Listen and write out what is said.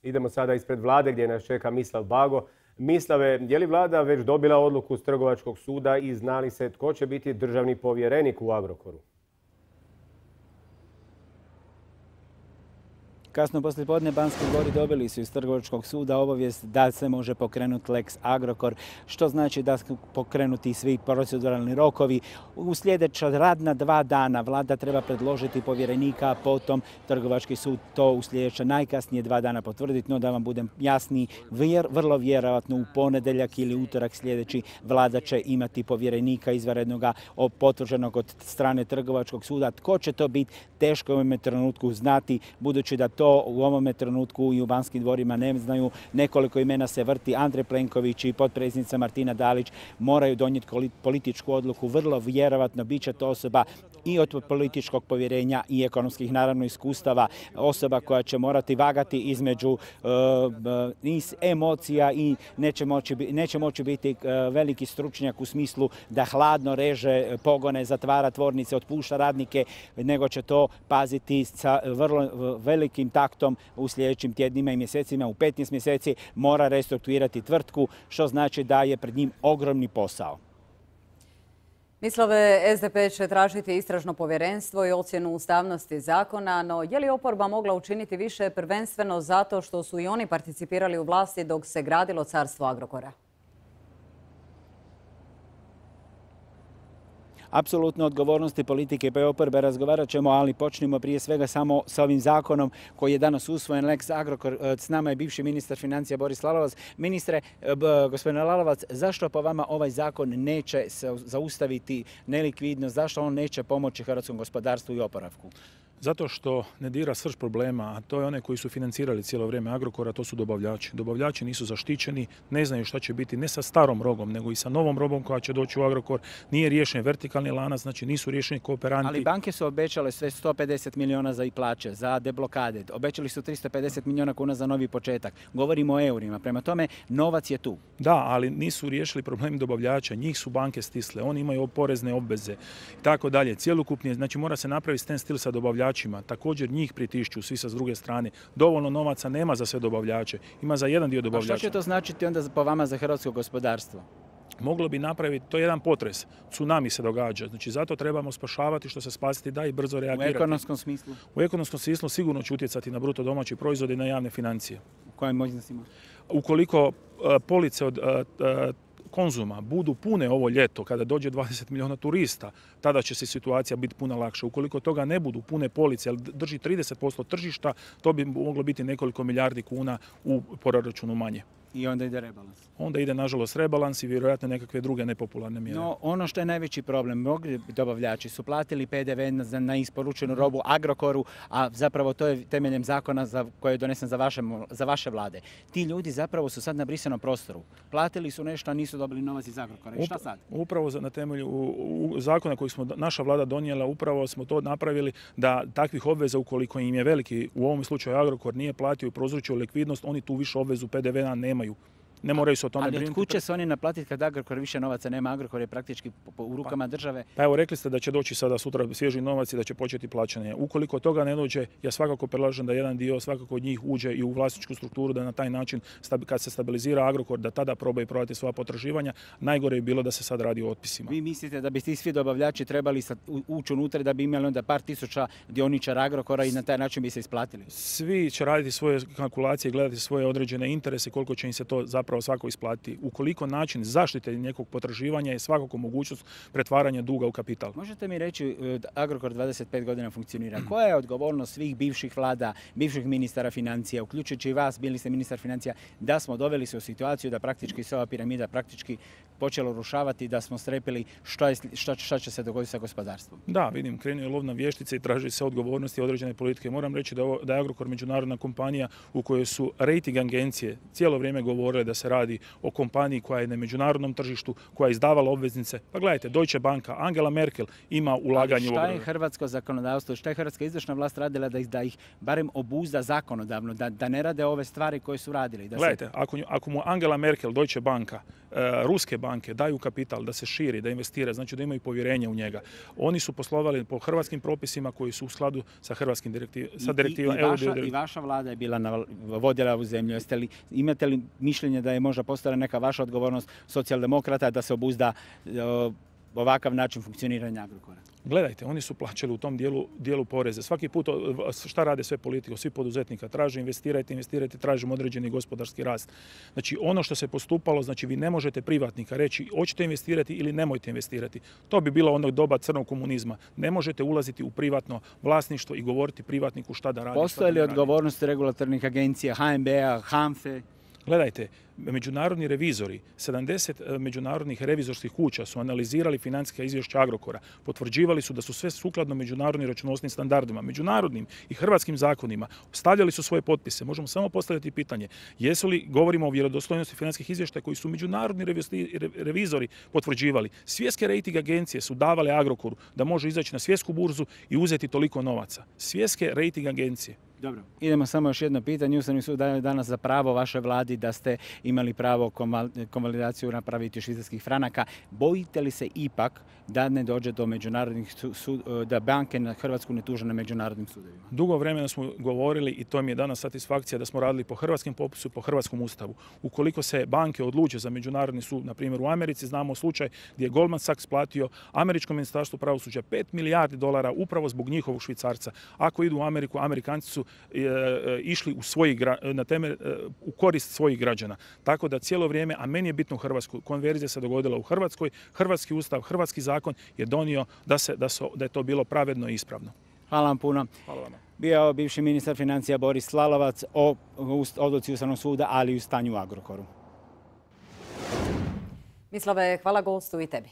Idemo sada ispred vlade gdje nas čeka Mislav Bago. Mislave, je li vlada već dobila odluku s Trgovačkog suda i zna li se tko će biti državni povjerenik u Agrokoru? Kasno poslijepodne Banski dvori dobili su iz Trgovačkog suda obavijest da se može pokrenuti Lex Agrokor, što znači da su pokrenuti svi proceduralni rokovi. U sljedeća radna 2 dana vlada treba predložiti povjerenika, a potom Trgovački sud to u sljedeća najkasnije 2 dana potvrditi. No da vam budem jasniji, vrlo vjerojatno u ponedjeljak ili utorak sljedeći vlada će imati povjerenika izvanrednoga potvrđenog od strane Trgovačkog suda. Tko će to biti, teško je u ovome trenutku znati, budući da to u ovome trenutku i u Banskim dvorima ne znaju. Nekoliko imena se vrti. Andrej Plenković i potpredsjednica Martina Dalić moraju donijeti političku odluku. Vrlo vjerojatno bit će to osoba i od političkog povjerenja i ekonomskih naravno iskustava. Osoba koja će morati vagati između emocija i neće moći biti veliki stručnjak u smislu da hladno reže pogone, zatvara tvornice, otpušta radnike, nego će to paziti sa vrlo velikim taktom u sljedećim tjednima i mjesecima. U 15 mjeseci mora restrukturirati tvrtku, što znači da je pred njim ogromni posao. Mislave, SDP će tražiti istražno povjerenstvo i ocjenu ustavnosti zakona, no je li oporba mogla učiniti više prvenstveno zato što su i oni participirali u vlasti dok se gradilo carstvo Agrokora? Apsolutno odgovornosti politike pa i oporbe razgovarat ćemo, ali počnimo prije svega samo sa ovim zakonom koji je danas usvojen, Lex Agrokor. S nama je bivši ministar financija Boris Lalovac. Ministre, gospodine Lalovac, zašto po vama ovaj zakon neće zaustaviti nelikvidnost, zašto on neće pomoći hrvatskom gospodarstvu i oporavku? Zato što ne dira srž problema, a to je one koji su financirali cijelo vrijeme Agrokora, to su dobavljači. Dobavljači nisu zaštićeni, ne znaju šta će biti ne sa starom robom, nego i sa novom robom koja će doći u Agrokor. Nije riješen vertikalni lanac, znači nisu riješeni kooperanti. Ali banke su obećale sve 150 milijuna za i plaće, za deblokade. Obećali su 350 milijuna kuna za novi početak. Govorimo o eurima. Prema tome, novac je tu. Da, ali nisu riješili problem dobavljača. Njih su banke stisle. Oni imaju porezne obveze i tako dalje. Cjelokupni, znači mora se napraviti stand still sa dobavljačima. Također njih pritišću svi sa druge strane. Dovoljno novaca nema za sve dobavljače. Ima za jedan dio dobavljača. A što će to značiti onda po vama za hrvatsko gospodarstvo? Moglo bi napraviti, to je jedan potres, tsunami se događa, znači zato trebamo spašavati što se spasiti da i brzo reagirati. U ekonomskom smislu? U ekonomskom smislu sigurno će utjecati na bruto domaći proizvod i na javne financije. U kojem iznosima? Ukoliko police od Konzuma budu pune ovo ljeto, kada dođe 20 milijuna turista, tada će se situacija biti puno lakša. Ukoliko toga ne budu pune police, ali drži 30% tržišta, to bi moglo biti nekoliko milijardi kuna u proračunu manje. I onda ide rebalans. Onda ide, nažalost, rebalans i vjerojatno nekakve druge nepopularne mjere. No, ono što je najveći problem, mnogi dobavljači su platili PDV na isporučenu robu Agrokoru, a zapravo to je temeljem zakona koji je donesen za vaše vlade. Ti ljudi zapravo su sad na brisanom prostoru. Platili su nešto, a nisu dobili novac iz Agrokora. I šta sad? Upravo na temelju zakona koji smo naša vlada donijela, upravo smo to napravili da takvih obveza, ukoliko im je veliki, u ovom slučaju Agrokor nije platio i prouzročio likvidnost, oni tu više obvezu PDV-a nemaju. Ne moraju se o tome brinuti. Ali otkud će se oni naplatiti kad Agrokor više novaca nema? Agrokor je praktički u rukama države. Pa evo, rekli ste da će doći sada sutra svježi novac i da će početi plaćanje. Ukoliko toga ne dođe, ja svakako predlažem da jedan dio svakako od njih uđe i u vlasničku strukturu, da na taj način, kad se stabilizira Agrokor, da tada probaju prodati svoja potraživanja. Najgore je bilo da se sad radi o otpisima. Vi mislite da bi ti svi dobavljači trebali ući unutra da bi imali onda par tisuća dioničara Agrokora i na taj način bi se isplatili? Svi će raditi svoje kalkulacije, gledati svoje određene interese, koliko će im se to zapravo svako isplatiti. Ukoliko način zaštite nekog potraživanja je svakako mogućnost pretvaranja duga u kapital. Možete mi reći, Agrokor 25 godina funkcionira. Koja je odgovornost svih bivših vlada, bivših ministara financija, uključujući i vas, bili ste ministar financija, da smo doveli se u situaciju da praktički se ova piramida praktički počela urušavati, da smo strepili šta će se dogoditi sa gospodarstvom? Da, vidim, krenuo je lov na vještice i traži se odgovornosti određene politike. Moram reći da je Agrokor međunarodna kompanija u kojoj su rejting agencije cijelo vrijeme govorile da se radi o kompaniji koja je na međunarodnom tržištu, koja je izdavala obveznice. Pa gledajte, Deutsche Banka, Angela Merkel ima ulaganje u... Šta je hrvatsko zakonodavstvo, šta je hrvatska izvršna vlast radila da ih barem obuzda zakonodavno, da ne rade ove stvari koje su radili? Gledajte, ako mu Angela Merkel, Deutsche Banka, ruske banke daju kapital da se širi, da investira, znači da imaju povjerenje u njega. Oni su poslovali po hrvatskim propisima koji su u skladu sa hrvatskim direktivama. I vaša vlada je bila vodila u zemlju. Imate li mišljenje da je možda postala neka vaša odgovornost socijaldemokrata da se obuzda ovakav način funkcioniranja Agrokora? Gledajte, oni su plaćali u tom dijelu poreze. Svaki put šta rade sve politike, svi poduzetnika traže investirajte, tražimo određeni gospodarski rast. Znači ono što se postupalo, znači vi ne možete privatnika reći hoćete investirati ili nemojte investirati. To bi bilo ono doba crnog komunizma. Ne možete ulaziti u privatno vlasništvo i govoriti privatniku šta da radi. Postoje li odgovornosti regulatornih agencija, HNB-a, HANFE? Gledajte, međunarodni revizori, 70 međunarodnih revizorskih kuća su analizirali financijska izvješća Agrokora. Potvrđivali su da su sve sukladno međunarodnim računovodstvenim standardima, međunarodnim i hrvatskim zakonima. Stavljali su svoje potpise. Možemo samo postaviti pitanje, jesu li, govorimo o vjerodostojnosti financijskih izvještaja koji su međunarodni revizori potvrđivali. Svjetske rejting agencije su davale Agrokoru da može izaći na svjetsku burzu i uzeti toliko novaca. Svjetske rejting agencije. Dobro, idemo samo još jedno pitanje. Ustavni sud daje danas za pravo vašoj vladi da ste imali pravo konvalidaciju napraviti švicarskih franaka. Bojite li se ipak da ne dođe do međunarodnih da banke na Hrvatsku ne tuže na međunarodnim sudovima? Dugo vremena smo govorili i to mi je danas satisfakcija da smo radili po hrvatskom popisu, po hrvatskom ustavu. Ukoliko se banke odluče za međunarodni sud, na primjer u Americi, znamo slučaj gdje je Goldman Sachs platio američkom ministarstvu pravosuđa 5 milijardi dolara upravo zbog njihovog švicarca. Ako idu u Ameriku, Amerikanci su išli u korist svojih građana. Tako da cijelo vrijeme, a meni je bitno u Hrvatskoj, konverzija se dogodila u Hrvatskoj, hrvatski ustav, hrvatski zakon je donio da je to bilo pravedno i ispravno. Hvala vam puno. Hvala vam. Bio je bivši ministar financija Boris Lalovac o odluci Ustavnog suda, ali i u stanju u Agrokoru. Mislave, hvala gostu i tebi.